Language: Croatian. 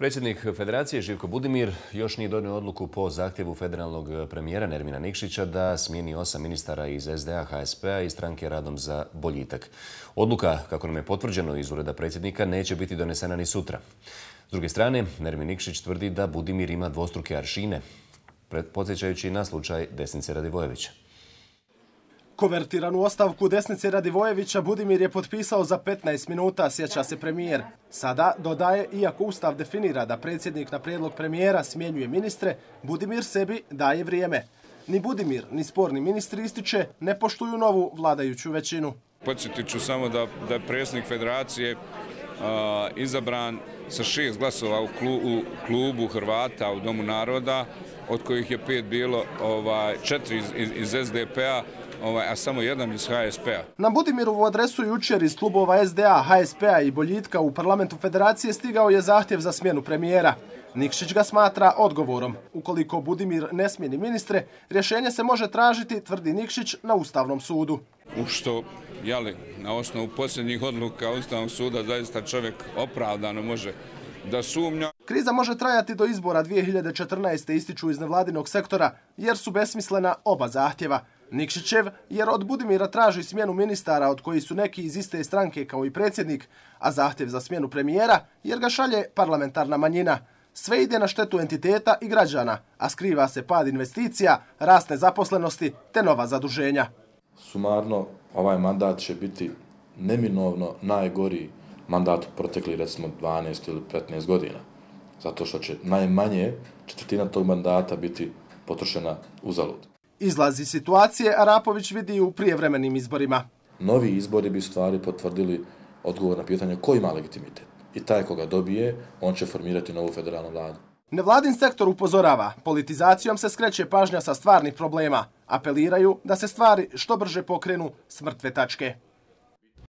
Predsjednik Federacije Živko Budimir još nije donio odluku po zahtjevu federalnog premijera Nermina Nikšića da smijeni 8 ministara iz SDA, HSP-a i stranke Radom za boljitak. Odluka, kako nam je potvrđeno iz ureda predsjednika, neće biti donesena ni sutra. S druge strane, Nermin Nikšić tvrdi da Budimir ima dvostruke aršine, podsjećajući na slučaj Desnice Radivojevića. Konvertiranu ostavku Desnice Radivojevića Budimir je potpisao za 15 minuta, sjeća se premijer. Sada, dodaje, iako Ustav definira da predsjednik na prijedlog premijera smjenjuje ministre, Budimir sebi daje vrijeme. Ni Budimir, ni sporni ministri, ističe, ne poštuju novu vladajuću većinu. Podsjetit ću samo da je predsjednik Federacije izabran sa 6 glasova u klubu Hrvata u Domu naroda, od kojih je 5 bilo 4 iz SDP-a, a samo 1 iz HSP-a. Na Budimirovu adresu jučer iz klubova SDA, HSP-a i boljitka u parlamentu Federacije stigao je zahtjev za smjenu premijera. Nikšić ga smatra odgovorom. Ukoliko Budimir ne smijeni ministre, rješenje se može tražiti, tvrdi Nikšić, na Ustavnom sudu. U što, na osnovu posljednjih odluka Ustavnog suda zaista čovjek opravdano može da sumnja. Kriza može trajati do izbora 2014. ističu iz nevladinog sektora, jer su besmislena oba zahtjeva. Nikšićev, jer od Budimira traži smjenu ministara od koji su neki iz iste stranke kao i predsjednik, a zahtjev za smjenu premijera jer ga šalje parlamentarna manjina. Sve ide na štetu entiteta i građana, a skriva se pad investicija, rast nezaposlenosti te nova zaduženja. Sumarno, ovaj mandat će biti neminovno najgori mandat protekli recimo 12 ili 15 godina. Zato što će najmanje četvrtina tog mandata biti potrošena uzalud. Izlazi situacije Arapović vidi u prijevremenim izborima. Novi izbori bi stvari potvrdili odgovor na pitanje ko ima legitimitet. I taj koga dobije, on će formirati novu federalnu vladu. Nevladin sektor upozorava, politizacijom se skreće pažnja sa stvarnih problema. Apeliraju da se stvari što brže pokrenu s mrtve tačke.